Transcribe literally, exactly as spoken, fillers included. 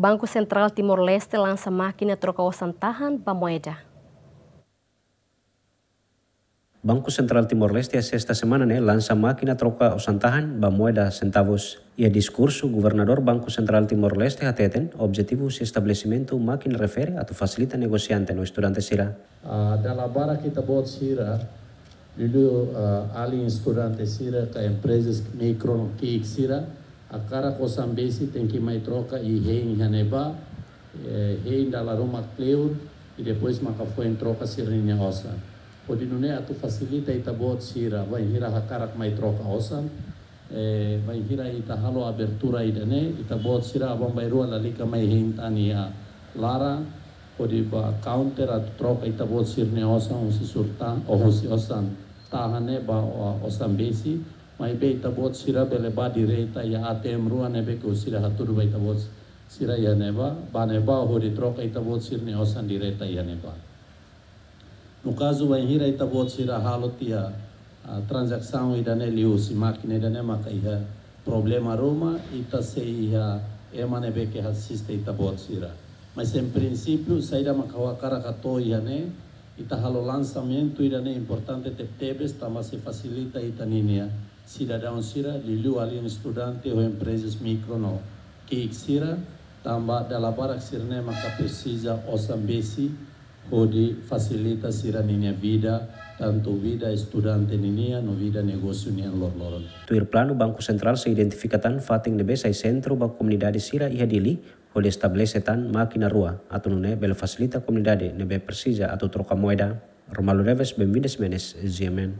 Banku Sentrál Timor-Leste lansa mákina troka osan tahan ba moeda. Banku Sentrál Timor-Leste iha sesta semana ne'e lansa mákina troka osan tahan ba moeda sentavus. Iha diskursu, Governadór Banku Sentrál Timor-Leste hateten objetivu husi estabelesimentu mákina refere atu fasilita negosiante no estudante sira. Ah, dala barak ita-boot sira, liuliu, ah, alin estudante sira ka emprezas mikro no ki'ik sira, hakarak osan besik tenke mai troka iha hein iha ne'ebá, eh, hein dala ruma kleur, i depois maka foin troka sira-nia osan. Hodi nune'e atu fasilita ita-boot sira, bainhira hakarak mai troka osan, eh, bainhira ita halo abertura ida-ne'e, ita-boot sira aban-bainrua lalika mai hein tan iha laran, hodi bá counter atu troka ita-boot sira-nia osan husi surta, ou husi osan tahan ne'e ba, o, osan besik, maibé ita-boot sira bele bá direta iha A T M rua ne'ebé ke sira hatudu ba ita-boot sira iha ne'ebá, bá ne'ebá hodi troka ita-boot sira-nia osan direta iha ne'ebá. No kazu bainhira ita-boot sira halo tiha, ah, tranzasaun ida-ne'e liuhusi mákina ida-ne'e maka iha problema ruma, ita sei iha ema ne'ebé ke asiste ita-boot sira. Mas em princípio, saida maka ha'u hakarak hato'o iha ne'e, ita halo lansamentu ida-ne'e importante tebetebes, tanba sei fasilita ita ninia sidadaun sira, liuliu alin estudante ho emprezas mikro no ki'ik sira, tanba dala barak sira-ne'e maka presiza osan besik hodi fasilita sira-ninia vida, tantu vida estudante ninia no vida negósiu nian loroloron. Tuir planu, Banku Sentrál sei identifika tan fatin ne'ebé sai sentru ba komunidade sira iha Dili, hodi estabelese tan mákina rua, atu nune'e bele fasilita komunidade ne'ebé presiza atu troka moeda. Romualdo Neves, Benvinda Ximenes, G M N.